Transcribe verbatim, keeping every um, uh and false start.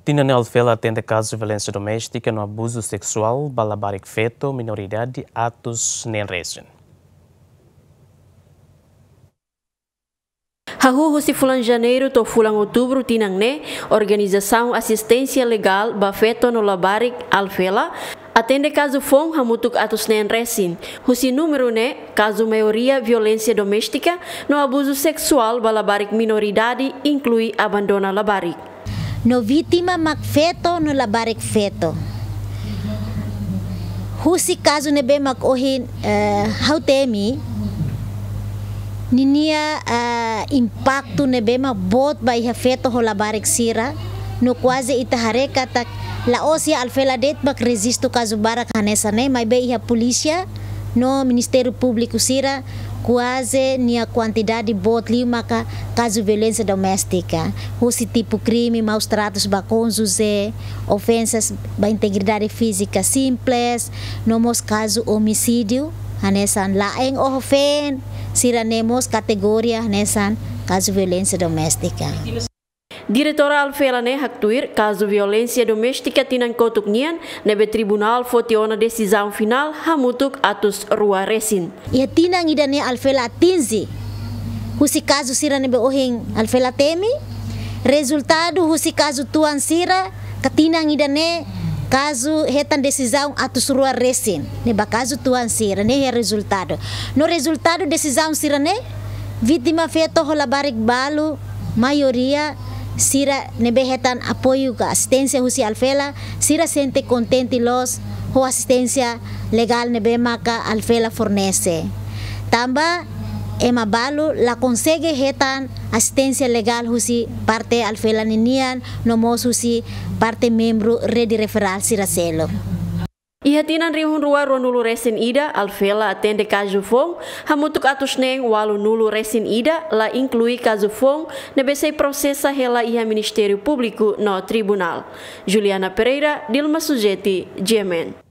Tinan ne'e Alfela atende kazu violénsia doméstika no abuzu seksuál ba labarik feto minoridade atus neen resin. Hahú husi fulan Janeiru to'o fulan Outubru tinan ne'e, Organizasaun Asisténsia Legál ba Feto no Labarik, Alfela, atende kazu foun hamutuk atus neen resin. Husi númeru ne'e, kazu maioria violénsia doméstika no abuzu seksuál ba labarik minoridade, inklui abandona labarik. No vítima mak feto no labarik feto. Husi kazu ne'ebé mak ohin, eh, ha'u temi, ninia, eh, impaktu ne'ebé mak boot ba iha feto ho labarik sira, no kuaze ita haree katak la'ós iha Alfela de'it mak rejistu kazu barak hanesan ne'e, maibé iha polísia no Ministériu Públiku sira, kuaze nia kuantidade boot liu maka kazu violénsia doméstika, husi tipu krime maus tratus ba kónjuje, ofensas ba integridade fízika simples, no mós kazu omisídiu, hanesan la'en oho feen, sira-ne'e mós kategoria hanesan kazu violénsia doméstika. Diretora Alfela ne'e haktuir, kazu violénsia doméstika tinan kotuk nian, ne'ebé tribunál foti ona desizaun finál hamutuk atus rua resin. Iha tinan ida-ne'e Alfela atinje husi kazu sira ne'ebé ohin Alfela temi, rezultadu husi kazu tuan sira, ka tinan ida-ne'e kazu hetan desizaun atus rua resin, ne'e ba kazu tuan sira, ne'e iha rezultadu. No rezultadu desizaun sira-ne'e, vítima feto ho labarik balu, maioria sira ne'ebé hetan apoiu ka asisténsia husi Alfela, sira sente kontente loos ho asisténsia legál ne'ebé maka Alfela fornese. Tanba ema balu la konsege hetan asisténsia legál husi parte Alfela ninian, no mós husi parte membru rede referál sira seluk. Iha tinan rihun rua ruanulu resin ida, Alfela atende kazu foun hamutuk atus neen ualunulu resin ida, la inklui kazu foun ne'ebé sei prosesa hela iha Ministériu Públiku no tribunál. Juliana Pereira, Dilma Sujeti, G M N.